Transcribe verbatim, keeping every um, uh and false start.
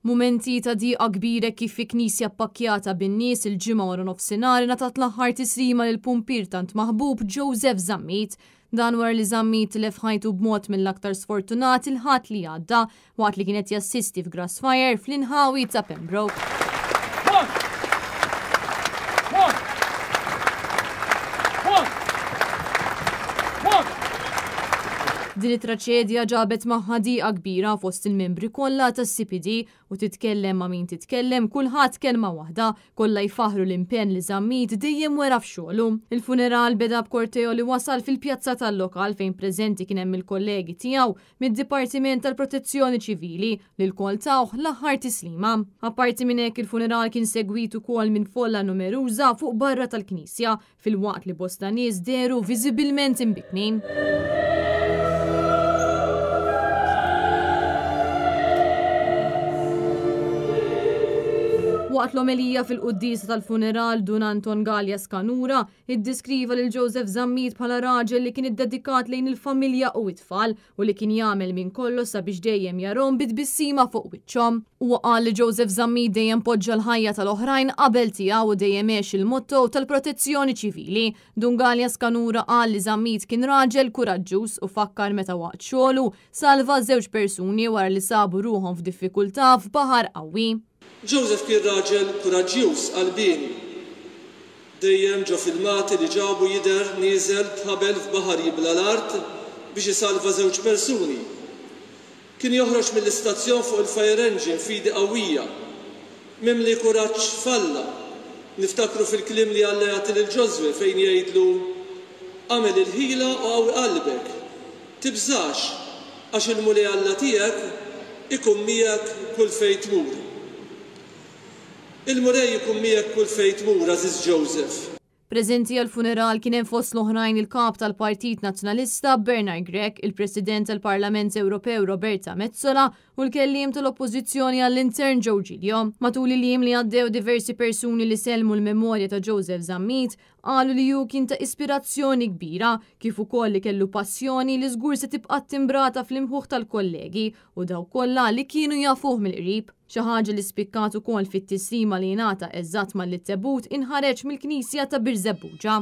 Mumenti ta' diqa kbira kif fi knisja ppakkjata bin-nies il-Ġimgħa wara nofsinhar ngħatat l-aħħar tislima lil pumpier tant maħbub Joseph Zammit. Dan wara li Zammit tilef ħajtu b'mod mill-aktar sfortunat il-Ħadd li għadda waqt li kienet jassisti f'grass fire fl-inħawi ta' Pembroke. Din it-traċedja ġabet magħha diqa kbira fost il-membri kollha tas-C P D u titkellem ma' min titkellem, kulħadd kelma waħda, kollha jfaħru l-impenn li Zammit dejjem wera f'xogħlu. Il-funeral beda b'korteo li wasal fil-pjazza tal-lokal fejn preżenti kien hemm il-kollegi tiegħu mid-Dipartiment tal-Protezzjoni Ċivili li lkoll tawh l-aħħar tislima. Apparti minn hekk, il-funeral kien segwit ukoll minn folla numeruża fuq barra tal-knisja, filwaqt li bosta nies dehru viżibilment imbikkmin. Waqt l-omelija fil-quddisa tal-funeral, Dun Anton Galea Scanura iddeskriva lil Joseph Zammit bħala raġel li kien iddedikat lejn il-familja u it-tfal u li kien jagħmel minn kollox sabiex dejjem jarahom bi tbissima fuq wiċċhom. Huwa qal li Joseph Zammit dejjem poġġa l-ħajja tal-oħrajn qabel tiegħu u dejjem għex il-motto tal-protezzjoni ċivili. Dun Galea Scanura qal li Zammit kien raġel kuraġġuż u fakkar meta waqt xogħlu salva żewġ persuni wara li sabu ruħhom f'diffikultà f'baħar qawwi. Joseph kien raġel kuraġġjuż, qalbieni. Dejjem ġo filmati li ġabu jidher nieżel b'ħabel f'baħar jibla l-art biex isalva żewġ persuni. Kien joħroġ mill-istazzjon fuq il-fire engine fidi qawwija, mimli kuraġġ f'Alla. Niftakru fil-kliem li Alla jagħti lil Ġożwè fejn jgħidlu: "Agħmel il-ħila u qawwi qalbek. Tibżax, għax il-Mulej Alla tiegħek ikun miegħek kull fejn tmur." Il-Mulej ikun miegħek kull fejn tmur, għażiż Joseph. Preżenti għal-funeral kien hemm fost l-oħrajn il-kap tal-Partit Nazzjonalista Bernard Grech, il-President tal-Parlament Ewropew Roberta Metsola u l-kelliem tal-Oppożizzjoni għall-Intern Joe Giglio. Matul il-jiem li għaddew, diversi persuni li sellmu l-memorja ta' Joseph Zammit qalu li hu kien ta' ispirazzjoni kbira, kif ukoll li kellu passjoni li żgur se tibqa' timbrata fl-imħuħ tal-kollegi u dawk kollha li kienu jafuh mill-qrib. Xi ħaġa li spikkat ukoll fit-tislima li ngħata eżatt malli t-tebut inħareġ mill-Knisja ta' Birżebbuġa.